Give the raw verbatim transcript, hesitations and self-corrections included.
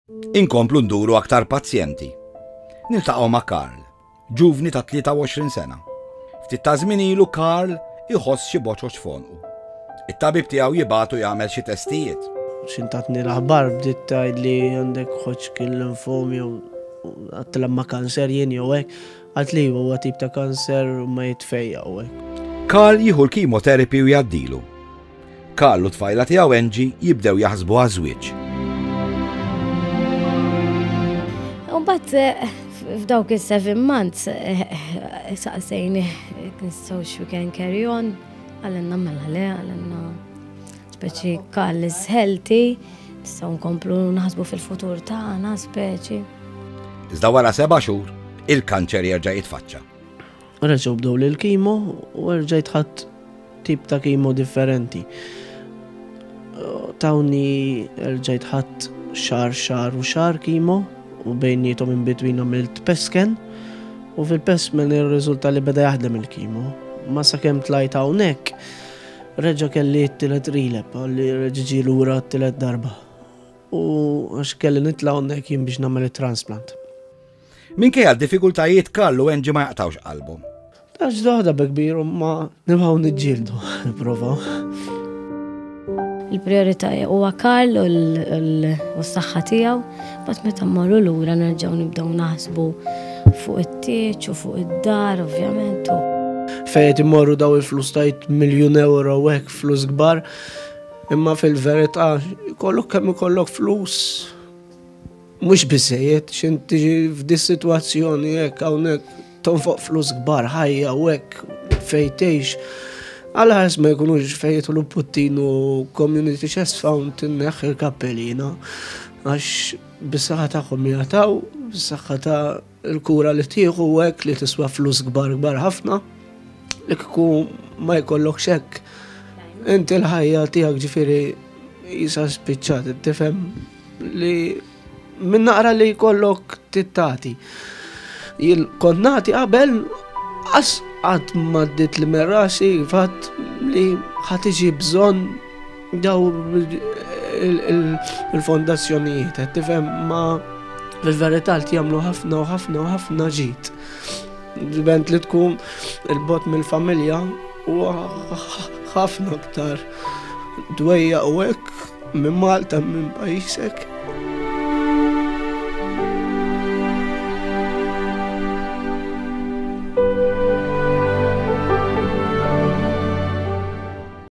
Inkomplu nduru aktar pazjenti. Niltaqgħu ma' Karl, ġuvni ta' tlieta u għoxrin sena. Ftit ta' żmien ilu Karl iħoss xi boċoċ f'għonqu. It-tabib tiegħu jibagħtu jagħmel xi testijiet. X'ħin tatni l-aħbar bdiet tgħid li għandek Hodgkin lymphoma jew għedtilha ma kanser jien jew hekk. Għalt li huwa tip ta' kanser u ma jitfejja u hekk. Karl jieħu l-chemotherapy u jgħaddilu. Karl u tfajla tiegħu Angie jibdew jaħsbu għaż-żwieġ. Mbagħad eh, f'dawk is-seven months eh, eh, saqsejni nistgħux we can carry on, qalilna mela le, qalilna speċi Karl is healthy, nistgħu nkomplu naħsbu fil-futur tagħna speċi. Iżda wara seba' xhur, il-kanċer jerġa' jitfaċċa. Reġgħu bdew l-chemo u rġajt ħadt tip ta' chemo differenti. Tawni rġajt ħadt xahar, xahar u xahar chemo u bejnietom in between għamilt PET scan u fil-PET scan ir-riżulta li beda jaħdem il-chemo. Ma sakemm tlajt hawnhekk reġa' kelli t-tielet relapse li reġa' ġie lura t-tielet darba. U għax kelli nitla' hawnhekk jien biex nagħmel it-transplant. Minkejja d-diffikultajiet, Karl u Angie ma jaqtawx qalbhom. Tax doħda kbir u ma nibqgħu niġġieldu, nipprovaw. Il-priorità huwa Karl u l- u s-saħħa tiegħu, mbagħad meta mmorru lura nerġgħu nibdew naħsbu fuq it-tieġ u fuq id-dar ovvjament. u- Fejn imorru daw il-flus tajt miljun euro u hekk, flus kbar, imma fil-verità kollok kemm ikollok flus mhux biżejjed x'ħin tiġi f'dis sitwazzjoni hekk hawnhekk tonfoq flus kbar ħajja u hekk fejn tgħix. Għal ma jkunux fejn jidħlu Puttinu Community Chest Fund, inneħħi il-kappell jiena. Għax bis-saħħa tagħhom jagħtaw, bis-saħħa ta' il-kura li tieħu u hekk li tiswa flus kbar kbar ħafna. Li kieku ma jkollokx hekk. Inti l-ħajja tiegħek ġifieri jisa spiċċat, tifhem li minn naqra li jkollok tittati. Jien kont nagħti qabel, qas qatt ma għaddiet li minn rasi fatt li ħa tiġi bżonn daw il-fondazzjonijiet, qed tifhem, ma fil-verità li jagħmlu ħafna u ħafna u ħafna ġid. Diment li tkun il-bogħod mill-familja u ħafna aktar dwejja u hekk minn Malta, minn pajjiżek.